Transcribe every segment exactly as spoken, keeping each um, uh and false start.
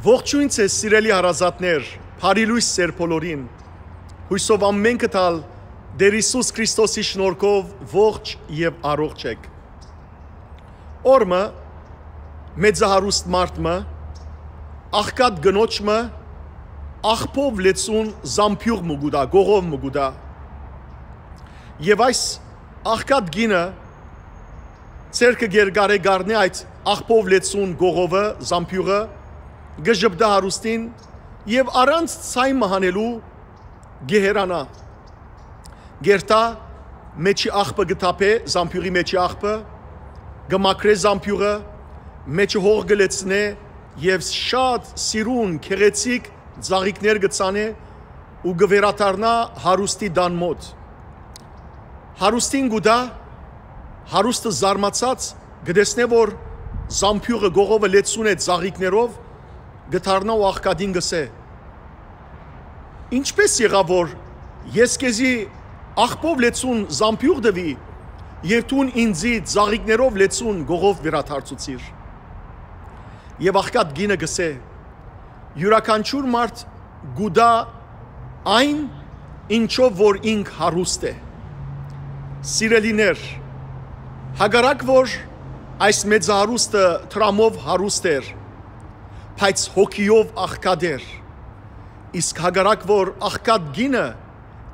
Ողջոյն ձեզ, սիրելի հարազատներ, բարի լոյս ձեր բոլորին։ Յուսով ամէնքը տալ Տեր Յիսուս Քրիստոսի շնորհքով ողջ եւ առողջ եք։ Օրը մը մեծահարուստ մարդ մը, աղքատ կնոջ մը, աղբով լեցուն զամբիւղ մը կու տայ, կողով մը կու տայ։ Եւ այս աղքատ կինը ձեռքը կերկարէ կառնէ այդ աղբով լեցուն կողովը, զամբիւղը, կը ժպտայ հարուստին եւ առանց ցայ մը հանելու կը հեռանայ։ Կերթայ, մեջի աղբը կը թափէ, զամբիւղի մեջի աղբը, կը մաքրէ զամբիւղը, մեջը հող կը լեցնէ եւ շատ սիրուն, գեղեցիկ ծաղիկներ կը ցանէ ու կը վերադառնայ հարուստի տան մօտ։ Հարուստին կու տայ, հարուստը զարմացած կը տեսնէ, որ զամբիւղը կողովը լեցուն է ծաղիկներով, կը դառնայ ու աղքատին կ'ըսէ. «Ինչպէս եղաւ, որ ես քեզի աղբով լեցուն զամբիւղ տուի եւ դուն ինծի ծաղիկներով լեցուն կողով վերադարձուցիր»։ Եւ աղքատ կինը կ'ըսէ. «Իւրաքանչիւր մարդ կու տայ այն, ինչով որ ինք հարուստ է»։ Սիրելիներ, հակառակ որ այս մեծահարուստը դրամով հարուստ էր, բայց հոգիով աղքատ էր, իսկ հակառակ որ աղքատ կինը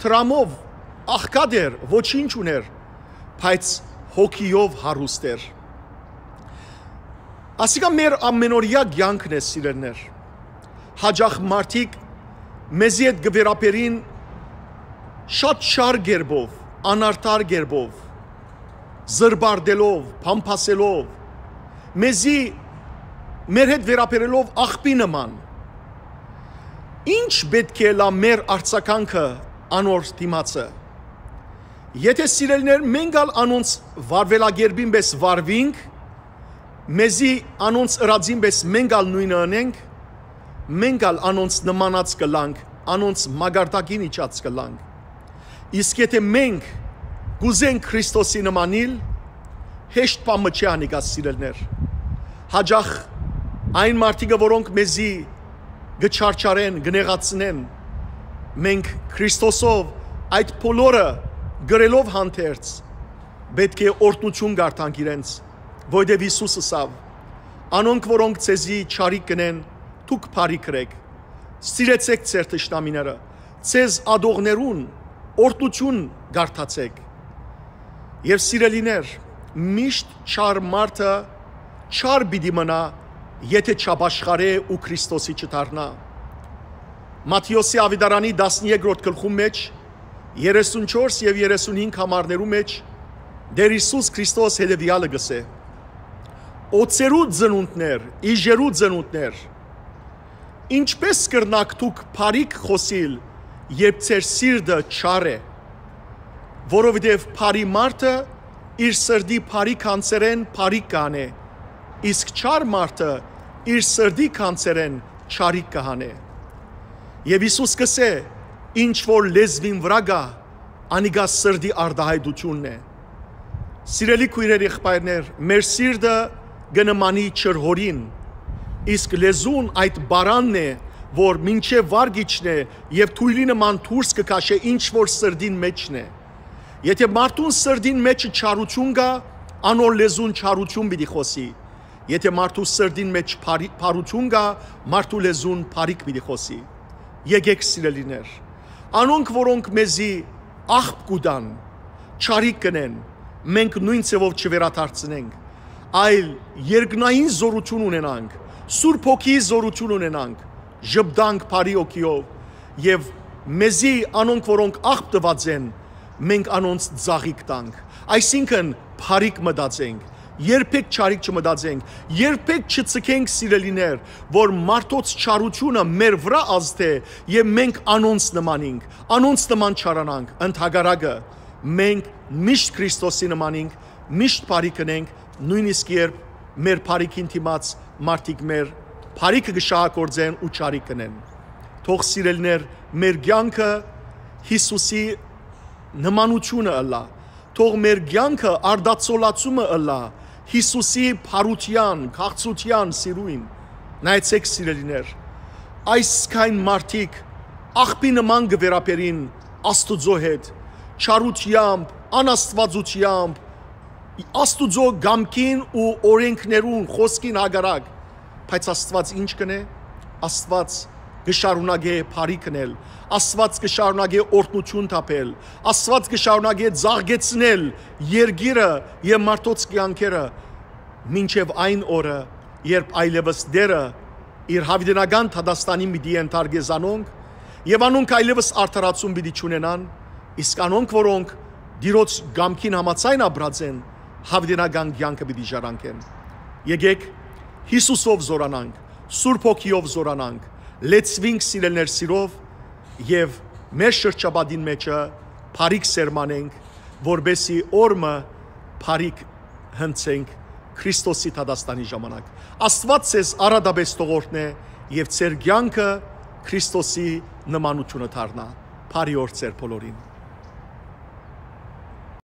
դրամով աղքատ էր, ոչինչ ուներ, բայց հոգիով հարուստ էր։ Ասիկա մեր ամենօրեայ կեանքն է, սիրելիներ։ Հաճախ մարդիկ մեզի հետ կը վերաբերին շատ չար կերպով, անարդար կերպով, զրպարտելով, փամփասելով, մեզի մեր հետ վերաբերելով աղբի նման։ Ի՞նչ պէտք է ըլլայ մեր արձագանքը անոր դիմացը։ Եթէ, սիրելիներ, մենք ալ անոնց վարուելակերպին պէս վարուինք, մեզի անոնց ըրածին պէս մենք ալ նոյնը ընենք, մենք ալ անոնց նմանած կ'ըլլանք, անոնց մակարդակին իջած կ'ըլլանք։ Իսկ եթէ մենք կ'ուզենք Քրիստոսի նմանիլ, հեշտ բան մը չէ անիկա, սիրելիներ։ Հաճախ այն մարդիկը, որոնք մեզի կը չարչարեն, կը նեղացնեն, մենք Քրիստոսով այդ բոլորը կրելով հանդերձ, պէտք է օրհնութիւն կարդանք իրենց, որովհետեւ Յիսուս ըսաւ. «Անոնք, որոնք ձեզի չարիք կ'ընեն, դուք բարիք ըրէք, սիրեցէք ձեր թշնամիները, ձեզ ատողներուն օրհնութիւն կարդացէք»։ Եւ, սիրելիներ, միշտ չար մարդը չար պիտի մնայ, եթէ չապաշխարէ ու Քրիստոսի չդառնայ։ Մատթէոսի աւետարանի տասներկրորդ գլխուն մէջ, երեսունչորս եւ երեսունհինգ համարներու մէջ, Տեր Յիսուս Քրիստոս հետեւեալը կ'ըսէ. «Օձերու ծնունդներ, իժերու ծնունդներ, ինչպէ՞ս կրնաք դուք բարիք խօսիլ, երբ ձեր սիրտը չար է։ Որովհետեւ բարի մարդը իր սրտի բարի գանձերէն բարիք կ'անէ, իսկ չար մարդը իր սրտի գանձերէն չարիք կը հանէ»։ Եւ Յիսուս կ'ըսէ. «Ինչ որ լեզուին վրայ կայ, անիկա սրտի արտայայտութիւնն է»։ Սիրելի քոյրեր, եղբայրներ, մեր սիրտը կը նմանի ջրհորին, իսկ լեզուն այդ պարանն է, որ մինչեւ վար կ'իջնէ եւ թոյլի նման դուրս կը քաշէ ինչ որ սրտին մէջն է։ Եթէ մարդուն սրտին մէջը չարութիւն կայ, անոր լեզուն չարութիւն պիտի խօսի։ Եթէ մարդու սրտին մէջ բարի-, բարութիւն կայ, մարդու լեզուն բարիք պիտի խօսի։ Եկէք, սիրելիներ, անոնք, որոնք մեզի աղբ կու տան, չարիք կ'ընեն, մենք նոյն ձեւով չվերադարձնենք, այլ երկնային զօրութիւն ունենանք, Սուրբ Հոգիի զօրութիւն ունենանք, ժպտանք բարի հոգիով եւ մեզի անոնք, որոնք աղբ տուած են, մենք անոնց ծաղիկ տանք, այսինքն՝ բարիք մտածենք, երբեք չարիք չմտածենք, երբեք չցկենք, սիրելիներ, որ մարդոց չարութիւնը մեր վրայ ազդէ եւ մենք անոնց նմանինք, անոնց նման չարանանք, ընդհակառակը, մենք միշտ Քրիստոսի նմանինք, միշտ բարիք ընենք, նոյնիսկ երբ մեր բարիքին դիմաց մարդիկ մեր բարիքը կը շահագործեն ու չարիք կ'ընեն։ Թող, սիրելիներ, մեր կեանքը Յիսուսի նմանութիւնը ըլլայ, թող մեր կեանքը արտացոլացումը ըլլայ Յիսուսի բարութեան, քաղցրութեան, սիրոյն, Նայեցէք, սիրելիներ, այսքան մարդիկ աղբի նման կը վերաբերին Աստուծոյ հետ, չարութեամբ, անաստուածութեամբ, Աստուծոյ կամքին ու օրենքներուն, խօսքին հակառակ, բայց Աստուած ի՞նչ կ'ընէ։ Աստուած կը շարունակէ բարիք ընել, Աստուած կը շարունակէ օրհնութիւն թափել, Աստուած կը շարունակէ ծաղկեցնել երկիրը եւ մարդոց կեանքերը, մինչեւ այն օրը, երբ այլեւս Տէրը իր յաւիտենական դատաստանին պիտի ենթարկէ զանոնք, եւ անոնք այլեւս արդարացում պիտի չունենան, իսկ անոնք, որոնք Տիրոջ կամքին համաձայն ապրած են, յաւիտենական կեանքը պիտի ժառանգեն։ Եկէք Յիսուսով զօրանանք, Սուրբ Հոգիով զօրանանք, լեցուինք, սիրելիներ, սիրով եւ մեր շրջապատին մէջը բարիք սերմանենք, որպեսզի օր մը բարիք հնցենք Քրիստոսի դատաստանի ժամանակ։ Աստուած ձեզ առատապէս թող օրհնէ եւ ձեր կեանքը Քրիստոսի նմանութիւնը դառնայ։ Բարի օր ձեզ բոլորին։